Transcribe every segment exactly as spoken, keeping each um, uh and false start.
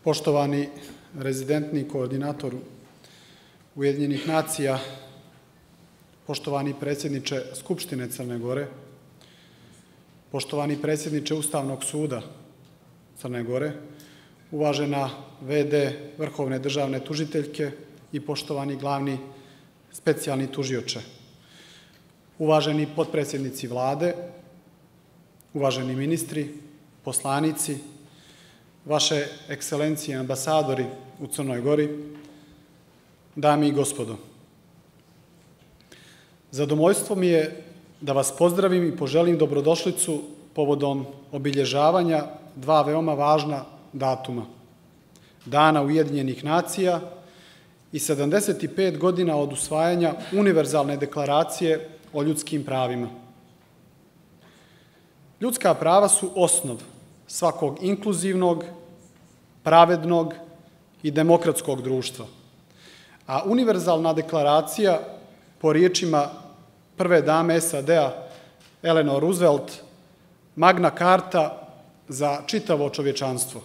Poštovani rezidentni koordinator Ujedinjenih nacija, poštovani predsjedniče Skupštine Crne Gore, poštovani predsjedniče Ustavnog suda Crne Gore, uvažena ve de Vrhovne državne tužiteljke i poštovani glavni specijalni tužioče, uvaženi potpredsjednici Vlade, uvaženi ministri, poslanici, vaše ekscelencije ambasadori u Crnoj Gori, dame i gospodo. Zadovoljstvo mi je da vas pozdravim i poželim dobrodošlicu povodom obilježavanja dva veoma važna datuma. Dana Ujedinjenih nacija i sedamdeset pet godina od usvajanja Univerzalne deklaracije o ljudskim pravima. Ljudska prava su osnov svakog inkluzivnog, pravednog i demokratskog društva. A Univerzalna deklaracija, po riječima prve dame es a de a Eleanor Roosevelt, Magna Carta za čitavo čovječanstvo.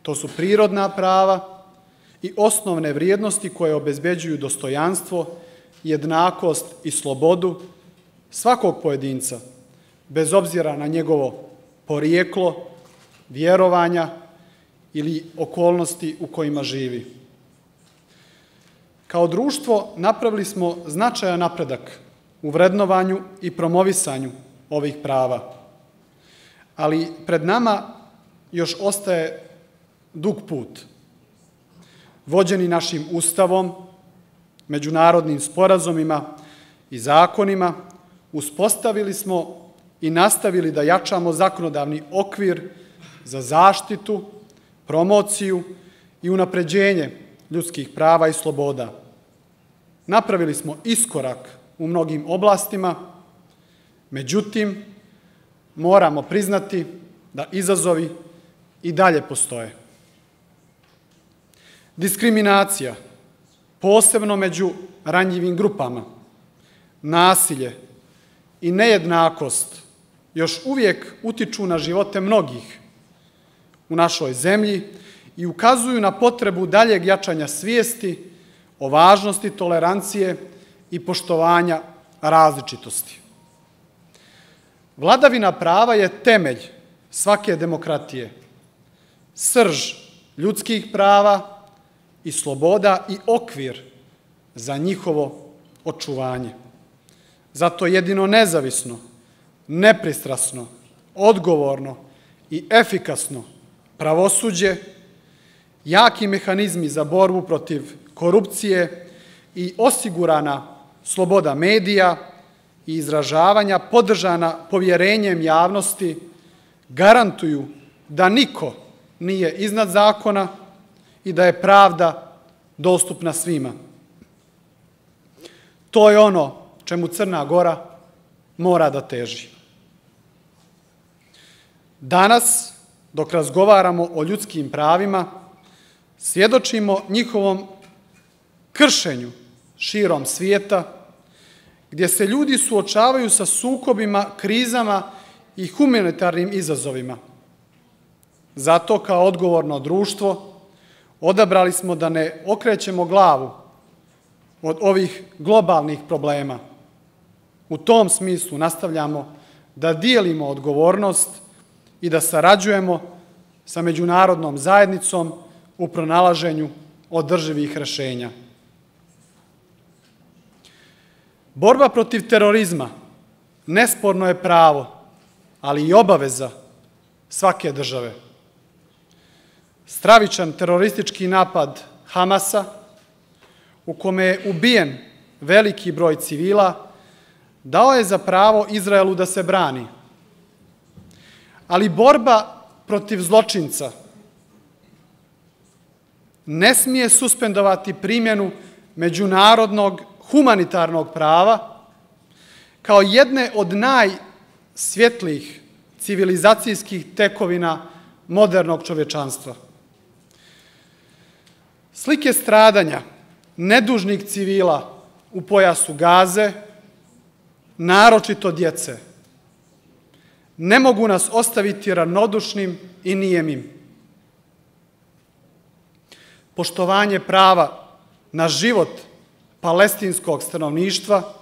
To su prirodna prava i osnovne vrijednosti koje obezbeđuju dostojanstvo, jednakost i slobodu svakog pojedinca, bez obzira na njegovo porijeklo, vjerovanja ili okolnosti u kojima živi. Kao društvo napravili smo značajan napredak u vrednovanju i promovisanju ovih prava, ali pred nama još ostaje dug put. Vođeni našim Ustavom, međunarodnim sporazumima i zakonima, uspostavili smo i nastavili da jačamo zakonodavni okvir za zaštitu, promociju i unapređenje ljudskih prava i sloboda. Napravili smo iskorak u mnogim oblastima, međutim, moramo priznati da izazovi i dalje postoje. Diskriminacija, posebno među ranjivim grupama, nasilje i nejednakost još uvijek utiču na živote mnogih u našoj zemlji i ukazuju na potrebu daljeg jačanja svijesti o važnosti tolerancije i poštovanja različitosti. Vladavina prava je temelj svake demokratije, srž ljudskih prava i sloboda i okvir za njihovo očuvanje. Zato jedino nezavisno, nepristrasno, odgovorno i efikasno pravosuđe, jaki mehanizmi za borbu protiv korupcije i osigurana sloboda medija i izražavanja podržana povjerenjem javnosti garantuju da niko nije iznad zakona i da je pravda dostupna svima. To je ono čemu Crna Gora mora da teži. Danas, dok razgovaramo o ljudskim pravima, svjedočimo njihovom kršenju širom svijeta, gdje se ljudi suočavaju sa sukobima, krizama i humanitarnim izazovima. Zato, kao odgovorno društvo, odabrali smo da ne okrećemo glavu od ovih globalnih problema. U tom smislu nastavljamo da dijelimo odgovornost i da sarađujemo sa međunarodnom zajednicom u pronalaženju održivih rješenja. Borba protiv terorizma nesporno je pravo, ali i obaveza svake države. Stravičan teroristički napad Hamasa, u kome je ubijen veliki broj civila, dao je za pravo Izraelu da se brani. Ali borba protiv zločinca ne smije suspendovati primjenu međunarodnog humanitarnog prava kao jedne od najsvjetlijih civilizacijskih tekovina modernog čovječanstva. Slike stradanja nedužnih civila u pojasu Gaze, naročito djece, ne mogu nas ostaviti ravnodušnim i nijemim. poštovanje prava na život palestinskog stanovništva,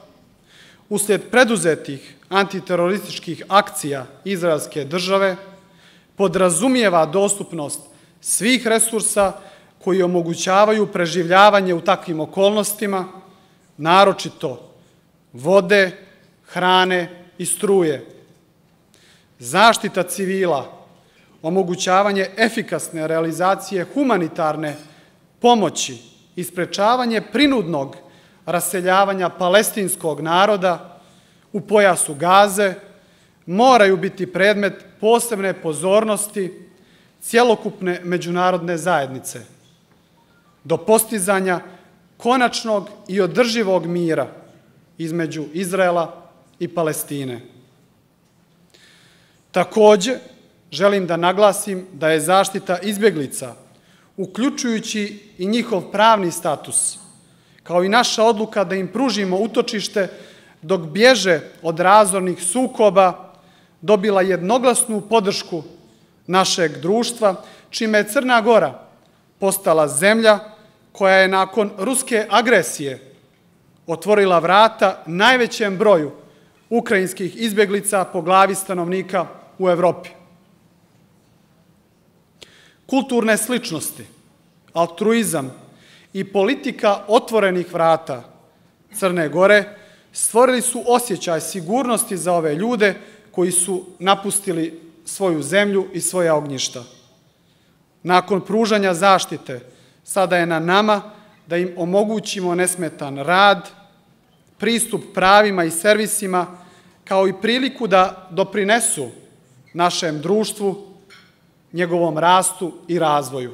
uslijed preduzetih antiterorističkih akcija izraelske države, podrazumijeva dostupnost svih resursa koji omogućavaju preživljavanje u takvim okolnostima, naročito vode, hrane i struje. Zaštita civila, omogućavanje efikasne realizacije humanitarne pomoći i sprečavanje prinudnog raseljavanja palestinskog naroda u pojasu Gaze moraju biti predmet posebne pozornosti cjelokupne međunarodne zajednice do postizanja konačnog i održivog mira između Izraela i Palestine. Takođe, želim da naglasim da je zaštita izbjeglica, uključujući i njihov pravni status, kao i naša odluka da im pružimo utočište dok bježe od razornih sukoba, dobila jednoglasnu podršku našeg društva, čime je Crna Gora postala zemlja koja je nakon ruske agresije otvorila vrata najvećem broju ukrajinskih izbjeglica po glavi stanovnika u Evropi. Kulturne sličnosti, altruizam i politika otvorenih vrata Crne Gore stvorili su osjećaj sigurnosti za ove ljude koji su napustili svoju zemlju i svoja ognjišta. Nakon pružanja zaštite, sada je na nama da im omogućimo nesmetan rad, pristup pravima i servisima, kao i priliku da doprinesu našem društvu, njegovom rastu i razvoju.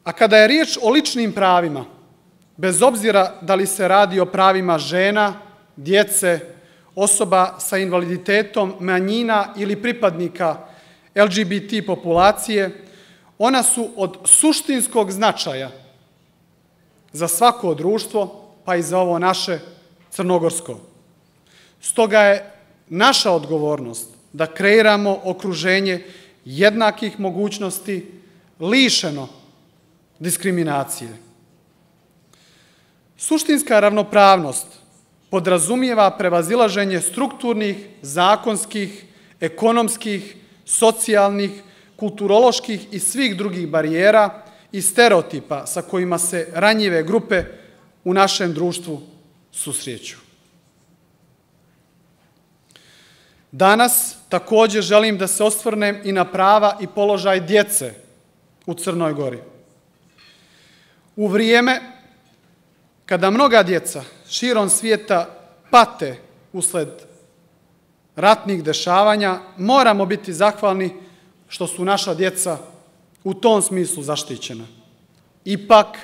A kada je riječ o ličnim pravima, bez obzira da li se radi o pravima žena, djece, osoba sa invaliditetom, manjina ili pripadnika L G B T populacije, ona su od suštinskog značaja za svako društvo, pa i za ovo naše crnogorsko. Stoga je naša odgovornost da kreiramo okruženje jednakih mogućnosti, lišeno diskriminacije. Suštinska ravnopravnost podrazumijeva prevazilaženje strukturnih, zakonskih, ekonomskih, socijalnih, kulturoloških i svih drugih barijera i stereotipa sa kojima se ranjive grupe u našem društvu susreću. Danas takođe želim da se osvrnem i na prava i položaj djece u Crnoj Gori. U vrijeme kada mnoga djeca širom svijeta pate usled ratnih dešavanja, moramo biti zahvalni što su naša djeca u tom smislu zaštićena. Ipak,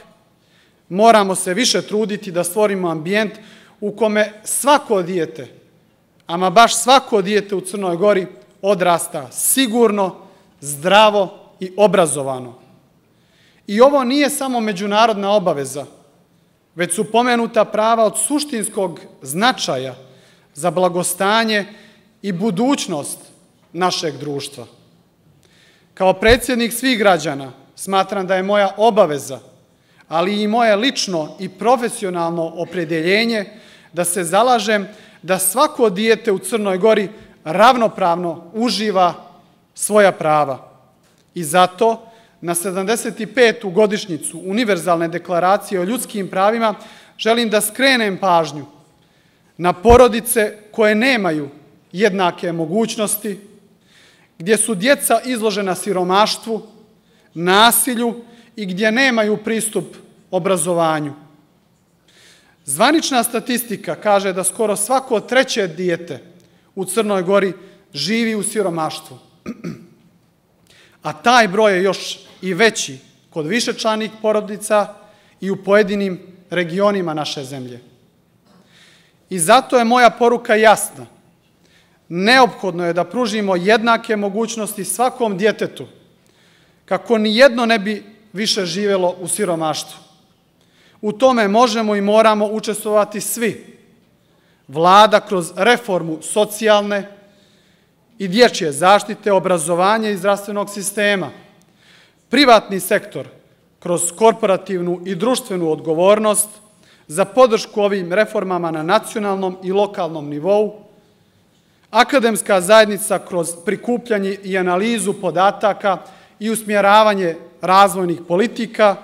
moramo se više truditi da stvorimo ambijent u kome svako dijete, ama baš svako dijete u Crnoj Gori odrasta sigurno, zdravo i obrazovano. I ovo nije samo međunarodna obaveza, već su pomenuta prava od suštinskog značaja za blagostanje i budućnost našeg društva. Kao predsjednik svih građana smatram da je moja obaveza, ali i moje lično i profesionalno opredjeljenje da se zalažem da svako dijete u Crnoj Gori ravnopravno uživa svoja prava. I zato na sedamdeset petu godišnjicu Univerzalne deklaracije o ljudskim pravima želim da skrenem pažnju na porodice koje nemaju jednake mogućnosti, gdje su djeca izložena siromaštvu, nasilju i gdje nemaju pristup obrazovanju. Zvanična statistika kaže da skoro svako treće dijete u Crnoj Gori živi u siromaštvu, a taj broj je još i veći kod višečlanih porodica i u pojedinim regionima naše zemlje. I zato je moja poruka jasna. Neophodno je da pružimo jednake mogućnosti svakom djetetu, kako ni jedno ne bi više živjelo u siromaštvu. U tome možemo i moramo učestvovati svi. Vlada kroz reformu socijalne i dječje zaštite, obrazovanja i zdravstvenog sistema, privatni sektor kroz korporativnu i društvenu odgovornost za podršku ovim reformama na nacionalnom i lokalnom nivou, akademska zajednica kroz prikupljanje i analizu podataka i usmjeravanje razvojnih politika,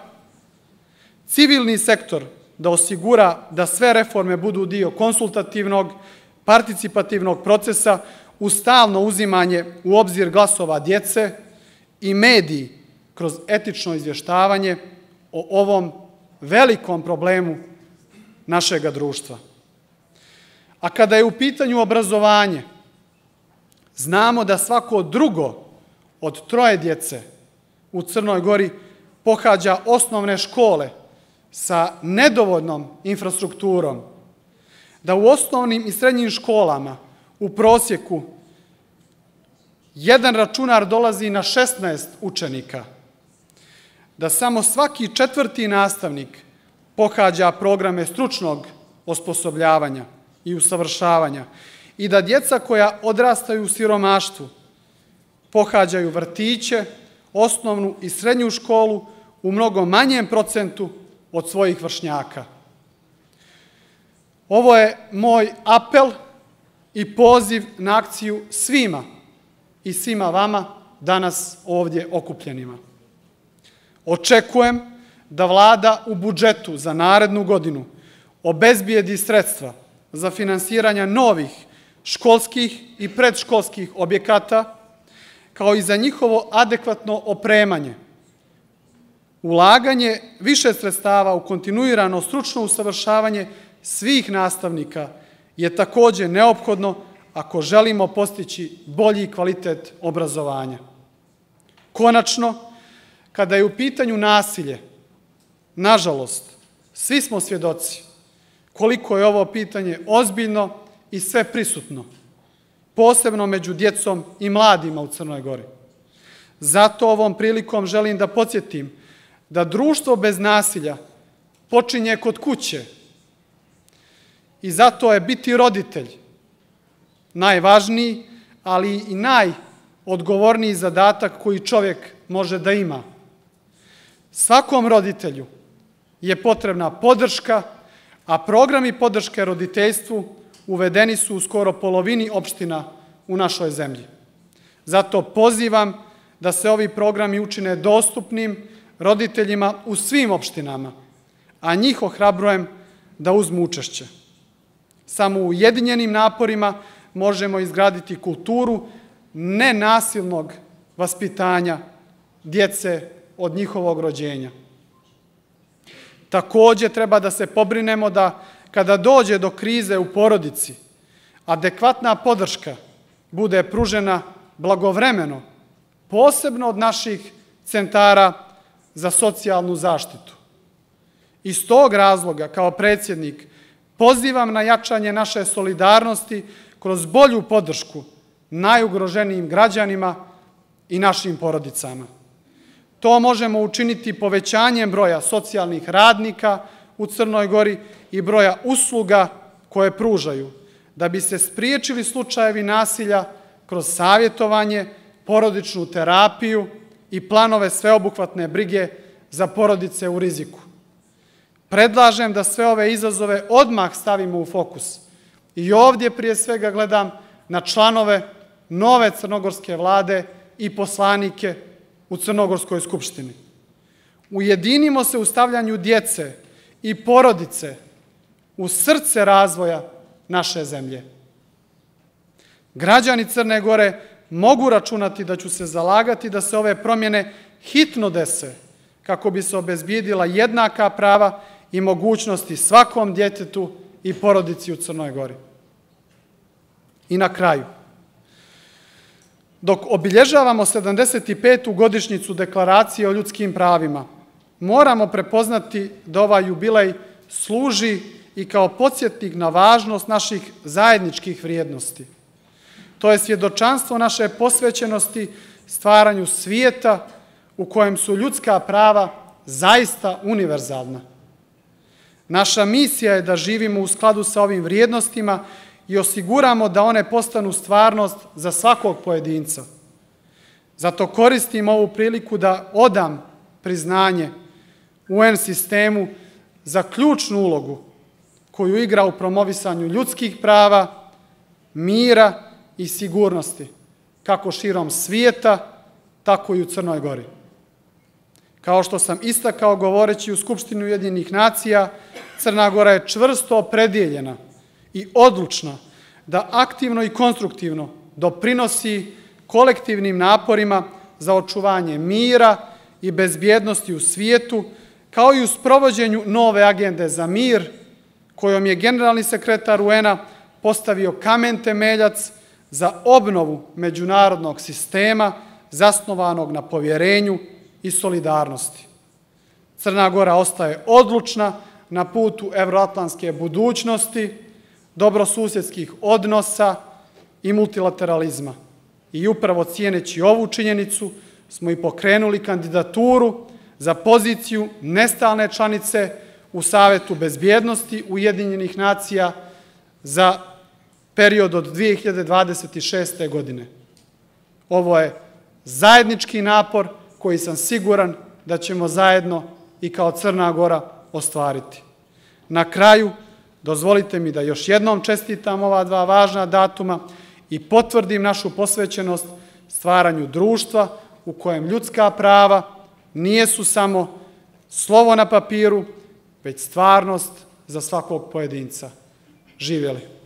civilni sektor da osigura da sve reforme budu dio konsultativnog, participativnog procesa uz stalno uzimanje u obzir glasova djece i mediji kroz etično izvještavanje o ovom velikom problemu našega društva. A kada je u pitanju obrazovanje, znamo da svako drugo od troje djece u Crnoj Gori pohađa osnovne škole sa nedovoljnom infrastrukturom, da u osnovnim i srednjim školama u prosjeku jedan računar dolazi na šesnaest učenika, da samo svaki četvrti nastavnik pohađa programe stručnog osposobljavanja i usavršavanja i da djeca koja odrastaju u siromaštvu pohađaju vrtiće, osnovnu i srednju školu u mnogo manjem procentu od svojih vršnjaka. Ovo je moj apel i poziv na akciju svima i svima vama danas ovdje okupljenima. Očekujem da Vlada u budžetu za narednu godinu obezbijedi sredstva za finansiranje novih školskih i predškolskih objekata, kao i za njihovo adekvatno opremanje. Ulaganje više sredstava u kontinuirano stručno usavršavanje svih nastavnika je također neophodno ako želimo postići bolji kvalitet obrazovanja. Konačno, kada je u pitanju nasilje, nažalost, svi smo svjedoci koliko je ovo pitanje ozbiljno i sve prisutno, posebno među djecom i mladima u Crnoj Gori. Zato ovom prilikom želim da podsjetim da društvo bez nasilja počinje kod kuće i zato je biti roditelj najvažniji, ali i najodgovorniji zadatak koji čovjek može da ima. Svakom roditelju je potrebna podrška, a programi podrške roditeljstvu uvedeni su u skoro polovini opština u našoj zemlji. Zato pozivam da se ovi programi učine dostupnim roditeljima u svim opštinama, a njih ohrabrujem da uzmu učešće. Samo ujedinjenim naporima možemo izgraditi kulturu nenasilnog vaspitanja djece od njihovog rođenja. Također treba da se pobrinemo da kada dođe do krize u porodici, adekvatna podrška bude pružena blagovremeno, posebno od naših centara za socijalnu zaštitu. Iz tog razloga, kao predsjednik, pozivam na jačanje naše solidarnosti kroz bolju podršku najugroženijim građanima i našim porodicama. To možemo učiniti povećanjem broja socijalnih radnika u Crnoj Gori i broja usluga koje pružaju, da bi se spriječili slučajevi nasilja kroz savjetovanje, porodičnu terapiju i planove sveobuhvatne brige za porodice u riziku. Predlažem da sve ove izazove odmah stavimo u fokus i ovdje prije svega gledam na članove nove crnogorske vlade i poslanike u Crnogorskoj skupštini. Ujedinimo se u stavljanju djece i porodice u srce razvoja naše zemlje. Građani Crne Gore mogu računati da ću se zalagati da se ove promjene hitno dese kako bi se obezbijedila jednaka prava i mogućnosti svakom djetetu i porodici u Crnoj Gori. I na kraju, dok obilježavamo sedamdeset petu godišnjicu Deklaracije o ljudskim pravima, moramo prepoznati da ovaj jubilej služi i kao podsjetnik na važnost naših zajedničkih vrijednosti. To je svjedočanstvo naše posvećenosti stvaranju svijeta u kojem su ljudska prava zaista univerzalna. Naša misija je da živimo u skladu sa ovim vrijednostima i osiguramo da one postanu stvarnost za svakog pojedinca. Zato koristim ovu priliku da odam priznanje U En sistemu za ključnu ulogu koju igra u promovisanju ljudskih prava, mira i sigurnosti, kako širom svijeta, tako i u Crnoj Gori. Kao što sam istakao govoreći u Skupštini Ujedinjenih nacija, Crna Gora je čvrsto opredjeljena i odlučna da aktivno i konstruktivno doprinosi kolektivnim naporima za očuvanje mira i bezbjednosti u svijetu, kao i u sprovođenju nove agende za mir, kojom je generalni sekretar U En-a postavio kamen temeljac za obnovu međunarodnog sistema zasnovanog na povjerenju i solidarnosti. Crna Gora ostaje odlučna na putu evroatlantske budućnosti, dobrosusjedskih odnosa i multilateralizma. I upravo cijeneći ovu činjenicu smo i pokrenuli kandidaturu za poziciju nestalne članice u Savetu bezbjednosti Ujedinjenih nacija za period od dvije hiljade dvadeset šeste. godine. Ovo je zajednički napor koji sam siguran da ćemo zajedno i kao Crna Gora ostvariti. Na kraju, dozvolite mi da još jednom čestitam ova dva važna datuma i potvrdim našu posvećenost stvaranju društva u kojem ljudska prava nijesu samo slovo na papiru, već stvarnost za svakog pojedinca. Živjeli!